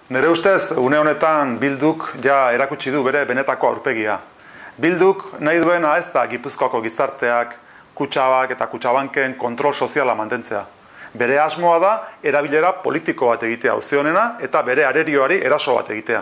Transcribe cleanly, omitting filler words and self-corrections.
Nire ustez, une honetan Bilduk ja erakutsi du bere benetako aurpegia. Bilduk nahi duena ez da Gipuzkoako gizarteak, Kutxabak eta Kutxabanken kontrol soziala mantentzea. Bere asmoa da erabilera politiko bat egitea auzionena eta bere arerioari eraso bat egitea.